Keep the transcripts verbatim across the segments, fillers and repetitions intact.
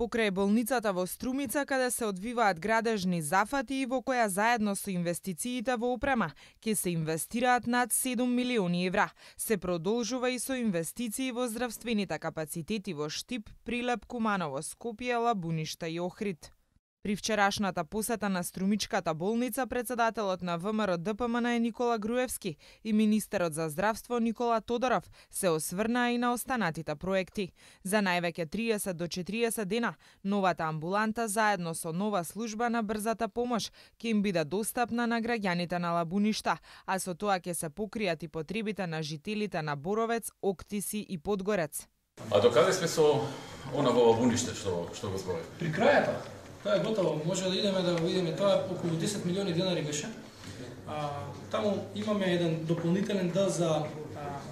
Покрај болницата во Струмица, каде се одвиваат градежни зафати и во која заедно со инвестициите во опрема ќе се инвестираат над седум милиони евра, се продолжува и со инвестиции во здравствените капацитети во Штип, Прилеп, Куманово, Скопје, Лабуништа и Охрид. При вчерашната посета на Струмичката болница, председателот на ВМРО-ДПМН Никола Груевски и министерот за здравство Никола Тодоров се осврнаа и на останатите проекти. За највеќе триесет до четириесет дена, новата амбуланта заедно со нова служба на брзата помош ќе им биде достапна на граѓаните на Лабуништа, а со тоа ќе се покријат и потребите на жителите на Боровец, Октиси и Подгорец. А докаде сме со она во Лабуниште што што го збори? При крајата. Тоа е готово, може да идеме да го видиме, тоа околу десет милиони денари беше. А, таму имаме еден дополнителен дел за а,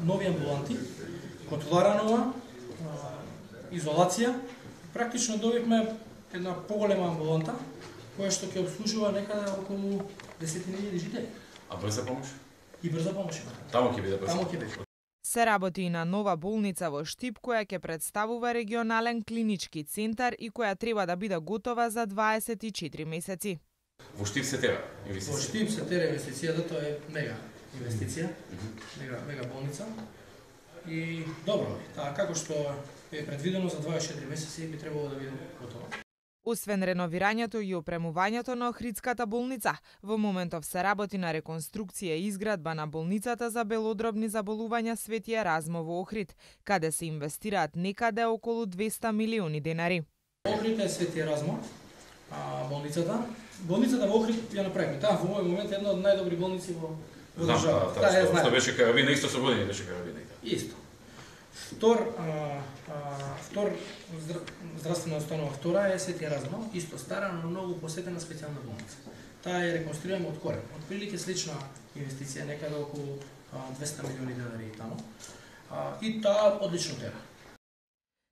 нови амбуланти, котлара нова, а, изолација. Практично добивме една поголема амбуланта, која што ќе обслужува некаде околу десет илјади жители. А брза помош? И брза помош. Таму ќе биде брза. Таму ќе биде. Се работи и на нова болница во Штип, која ќе представува регионален клинички центар и која треба да биде готова за дваесет и четири месеци. Во Штип се тера инвестиција? Во Штип се тера инвестицијата, тоа е мега инвестиција, мега, мега болница. И добро, таа како што е предвидено за дваесет и четири месеци би требало да биде готова. Освен реновирањето и опремувањето на Охридската болница, во моментов се работи на реконструкција и изградба на болницата за белодробни заболувања Свети Еразмо во Охрид, каде се инвестираат некаде околу двесте милиони денари. Охрид е Свети Еразмо, а болницата. Болницата во Охрид ја направивме. Таа во овој момент е една од најдобри болници во државата. Знам, таа што, што беше карабина, исто со години беше карабина. Исто. Втор, а, а, втор здравствена установа втора е Свети Еразмо, исто стара, но многу посетена специјална болница. Таа е реконструирана од корен. Од прилике слична инвестиција, некаде околу а, двесте милиони денари таму. А, и таа одлично тера.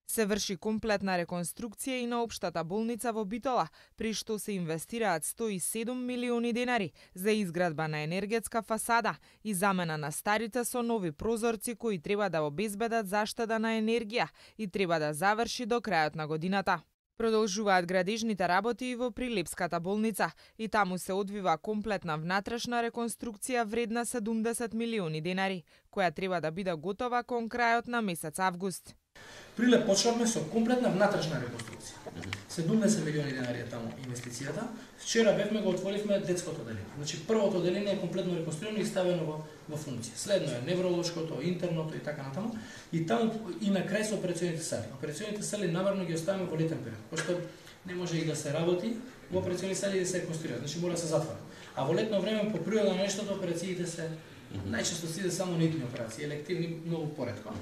Се врши комплетна реконструкција и на општата болница во Битола, при што се инвестираат сто и седум милиони денари за изградба на енергетска фасада и замена на старите со нови прозорци кои треба да обезбедат заштеда на енергија и треба да заврши до крајот на годината. Продолжуваат градежните работи и во Прилепската болница и таму се одвива комплетна внатрешна реконструкција вредна седумдесет милиони денари, која треба да биде готова кон крајот на месец август. Прилеп почнавме со комплетна внатрешна реконструкција. седумдесет милиони денари е таму инвестицијата. Вчера бевме го отворивме детското одделение. Значи првото одделение е комплетно реконструирано и ставено во, во функција. Следно е невролошкото, интерното и така натаму. И таму и на крај со операционите сали. Операционите сали наварно ги оставаме во летен период, пошто не може и да се работи во операциони сали и да се реконструира. Значи мора да се затвора. А во летно време по природа на нештото операциите се најчесто се иде само на итни операции, елективни многу поретко.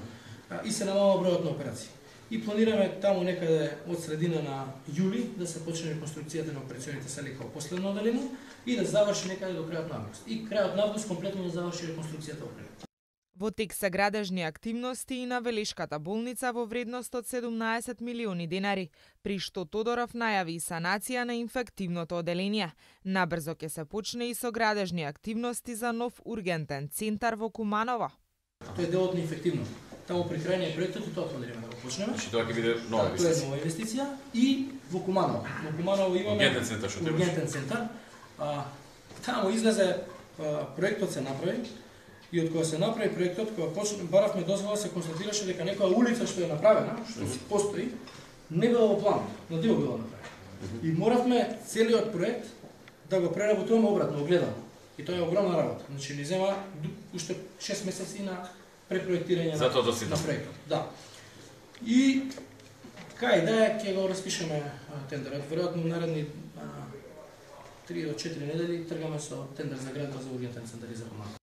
И се намалува бројот на операции. И планираме таму некаде од средина на јули да се почне реконструкцијата на операционите сали како последно одделение и да заврши некаде до крајот на август. И крајот на август комплетно да заврши реконструкцијата во Прилеп. Во тек се градежни активности и на Велешката болница во вредност од седумнаесет милиони денари, при што Тодоров најави и санација на инфективното одделение. Набрзо ќе се почне и со градежни активности за нов ургентен центар во Куманово. Тоа е делот на инфективното. Таму при крајниот проектот и тоа планираме да го почнеме. Значи тоа ќе биде нова инвестиција. Тоа е нова инвестиција и во Куманово. Во Куманово имаме ургентен центар што треба. Ургентен центар. А, таму излезе а, проектот се направи и од кога се направи проектот, кога почна баравме дозвола, се констатираше дека некоја улица што е направена, што си постои, не била во план, но диво била направена. И моравме целиот проект да го преработуваме обратно, огледано. И тоа е огромна работа. Значи ни зема уште шест месеци на препроектирање на, на проектот. Да. И кај да ќе го распишеме тендерот. Веројатно наредни три до четири недели тргаме со тендер за градба за ургентен центар и за Куманово.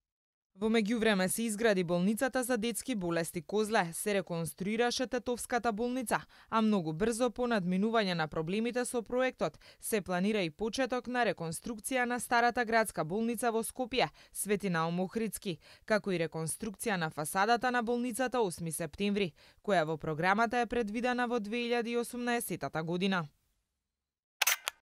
Во меѓувреме се изгради болницата за детски болести Козле, се реконструираше Тетовската болница, а многу брзо по надминување на проблемите со проектот се планира и почеток на реконструкција на старата градска болница во Скопје, Свети Наум Охридски, како и реконструкција на фасадата на болницата осми септември, која во програмата е предвидена во две илјади и осумнаесетата година.